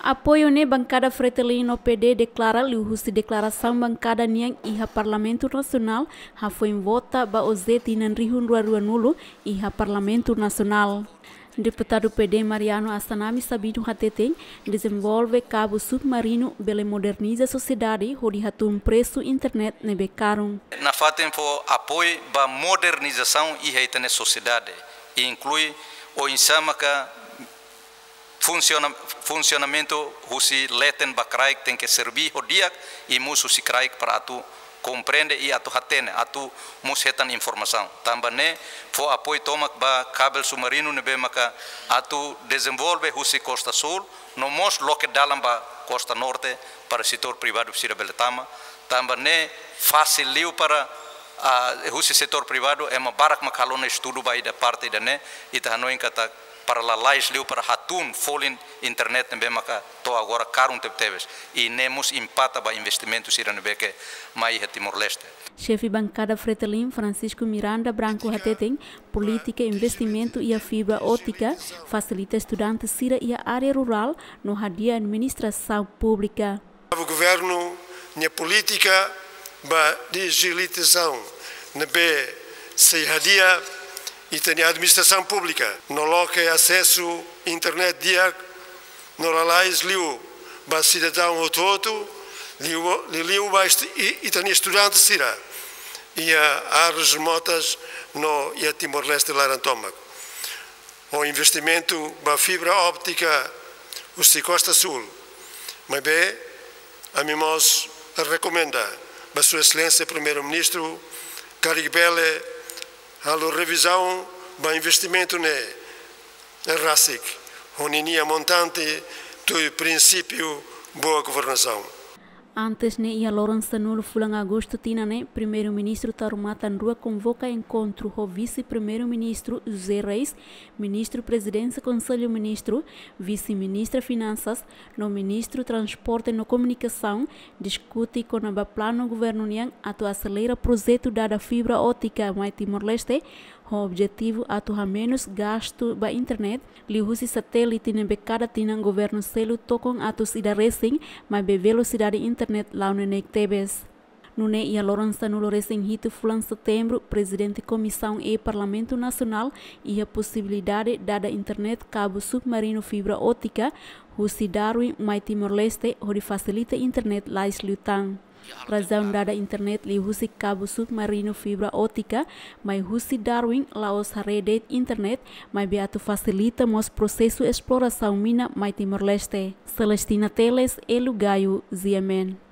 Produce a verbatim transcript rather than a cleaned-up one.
Apoiu ne'e bankada Fretilin no P D deklara liuhusi deklarasaun bankada nian iha Parlamentu Nasionál hafoin vota ba O Z tinan rihun rua rua nulu iha Parlamentu Nasionál. Deputadu P D Mariano Assanami Sabino hateten, dezenvolve kabu submarinu bele moderniza sosiedade hodi hatún presu internet ne'ebé karun. Nafatin fó apoiu ba modernizasaun iha ita-nia sosiedade, inklui oinsá maka funsiona-, funsionamentu husi leten ba kraik tenke serví ho di'ak i mós husi kraik para atu komprende i atu hatene, atu mós hetan informasaun. Tanba ne'e fó apoiu tomak ba kabel submarinu ne'ebé maka atu dezenvolve husi Kosta Súl, no mós loke dalan ba Kosta Norte para setór privadu sira bele tama. Tanba ne'e fasil liu para, ah, husi setór privadu, ema barak maka halo ona estudu ba ida parte ida-ne'e, ita hanoin katak para lalais liu para hatún folin internet ne'ebé maka to'o agora karun tebetebes. I ne'e mós impakta ba investimentu sira ne'ebé ke mai iha Timor-Leste. Xefe bankada Fretilin, Francisco Miranda Branco hateten, polítika investimentu iha fibra ótika fasilita estudante sira iha área rurál no hadi'a administrasaun públika. Governu nia polítika ba dijitalizasaun ne'ebé sei hadi'a ita-nia administrasaun públika no loke asesu internet di'ak no lalais liu ba sidadaun hotu-hotu, liu, liuliu ba estu-, i-, ita-nia estudante sira iha áreas remotas no iha Timor-Leste laran tomak. Ho investimentu ba fibra ótika husi Kosta Súl. Maibé, ami mós rekomenda ba Sua Exelénsia Primeiru-Ministru, karik bele halo revizaun ba investimentu ne'e rasik, ho ninia montante tuir prinsípiu boa governasaun. Antes ne'e, iha loron sanulu fulan Agostu tinan ne'e, Primeiru-Ministru Taur Matan Ruak konvoka enkontru ho Vise-Primeiru-Ministru José Reis, Ministru Prezidénsia Konsellu Ministru, Vise-Ministra Finansas, no Ministru Transporte no Komunikasaun, diskute kona-ba planu governu nian atu aselera projetu dada fibra ótika mai Timor-Leste, ho objetivu atu hamenus gastu ba internet, liuhusi satélite ne'ebé kada tinan governu selu tokon atus ida resin, maibé velosidade internet la'o neineik tebes. Nune'e iha loron sanulu resin hitu fulan Setembru, Prezidente Komisaun E Parlamentu Nasionál iha posibilidade dada internet kabu submarinu fibra ótika husi Darwin mai Timor-Leste hodi fasilita internet lais liután. Razaun dada internet liuhusi kabu submarinu fibra ótika mai husi Darwin la'ós haree de'it internet, maibé atu fasilita mós prosesu esplorasaun mina mai Timor-Leste. Celestina Teles, Elu Gayo, G M N.